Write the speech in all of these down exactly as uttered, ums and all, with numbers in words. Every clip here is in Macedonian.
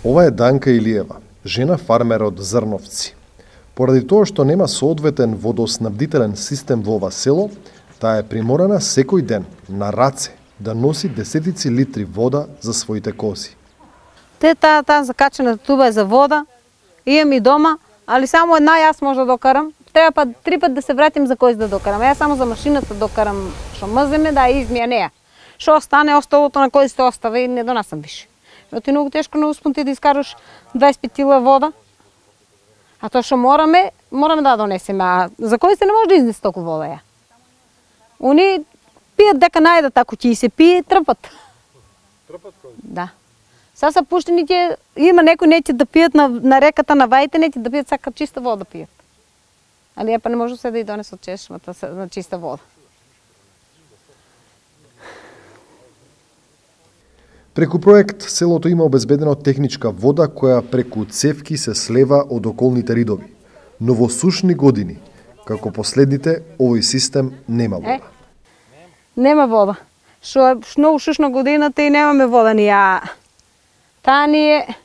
Ова е Данка Илиева, жена фармер од Зрновци. Поради тоа што нема соодветен водоснабдителен систем во ова село, таа е приморана секој ден на раце да носи десетици литри вода за своите кози. Те таа таа закачена туба е за вода, имам и дома, али само една јас може да докарам. Треба па три пат да се вратим за кој да докарам. Јас само за машината докарам што маземе да измија неа. Што остане, осталото на кој се остави и не донасам више. Но ти многу тешко на успон ти да искараш дваесет пет кила вода. А тоа што мораме, мораме да донесеме. А за кој се не може да изнесе толку вода ја? Они пијат дека најдат, ако ќе и се пие, трпат. Трпат кој? Да. Са са пуштени ќе, има некои неќе да пијат на, на реката, на ваите, неќе да пијат сака чиста вода пијат. Али ја па не може се да и донесе од чешмата на чиста вода. Преку проект, селото има обезбедено техничка вода која преку цевки се слева од околните ридови. Но во сушни години, како последните, овој систем нема вода. Е, нема вода. Шо е многу сушна годината и немаме вода ни ја. Таа ни е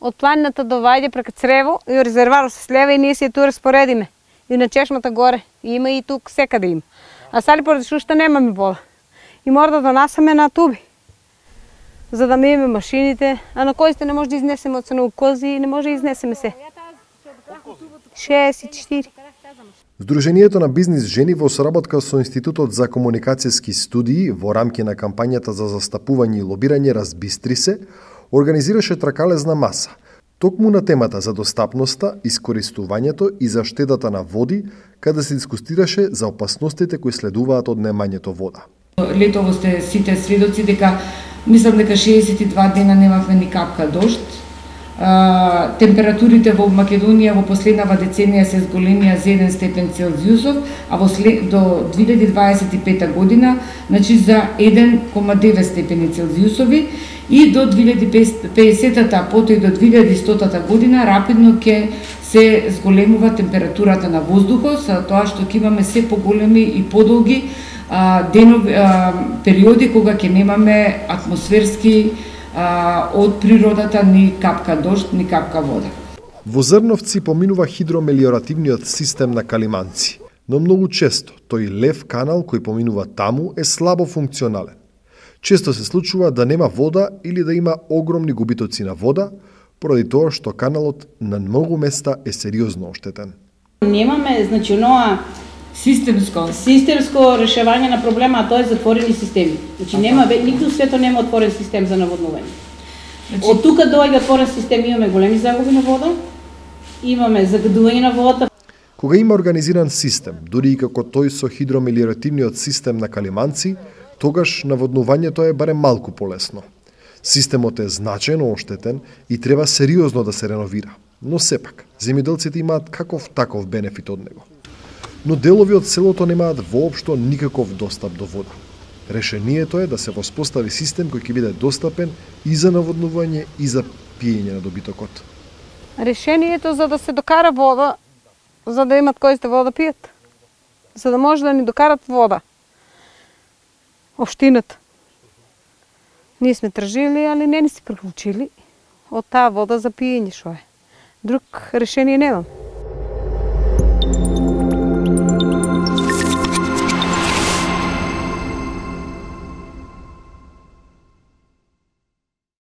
од планината до Вајде преку Црево и резерварот се слева и ние се ту распоредиме. И на чешмата горе. Има и тук секаде има. А сали поради сушта немаме вода. И мора да донасаме на туби, за да миеме машините, а на кои сте не може да изнесеме од ценово кози и не може да изнесеме се. шест и четири. Сдруженијето на бизнис жени во соработка со Институтот за комуникацијски студии во рамки на кампањата за застапување и лобирање Разбистри се, организираше тракалезна маса, токму на темата за достапноста, искористувањето и заштедата на води, каде се дискутираше за опасностите кои следуваат од немањето вода. Летово сте сите сведоци дека мислам дека шеесет и два дена немавме ни капка дожд. А, температурите во Македонија во последнава деценија се зголемија за еден степен Целзиусов, а во след, до две илјади дваесет и пета година, значи за еден кoma девет степени Целзиусови и до две илјади педесетата, потоа и до две илјади стотата година рапидно ќе се зголемува температурата на воздухот, со тоа што ќе имаме се поголеми и подолги а, денови, а, периоди кога ќе немаме атмосферски а, од природата ни капка дожд, ни капка вода. Во Зрновци поминува хидромелиоративниот систем на Калиманци, но многу често тој лев канал кој поминува таму е слабо функционален. Често се случува да нема вода или да има огромни губитоци на вода, поради тоа што каналот на многу места е сериозно оштетен. Немаме, значи, оноа Системско. Системско решавање на проблема, а тоа е затворени системи. Значи нема нигде свето нема отворен систем за наводнување. Значи, од тука доаѓа отворен систем, имаме големи загуби на вода, имаме загадување на водата. Кога има организиран систем, дури и како тој со хидромелиоративниот систем на Калиманци, тогаш наводнувањето е барем малку полесно. Системот е значајно оштетен и треба сериозно да се реновира, но сепак земјоделците имаат каков таков бенефит од него. Но делови од селото немаат воопшто никаков достап до вода. Решението е да се воспостави систем кој ќе биде достапен и за наводнување и за пиење на добитокот. Решението за да се докара вода, за да имат кои сте вода пијат, за да може да ни докарат вода. Општината. Ние сме тражили, али не ни се приклучили од таа вода за пиење што е. Друг решение немам.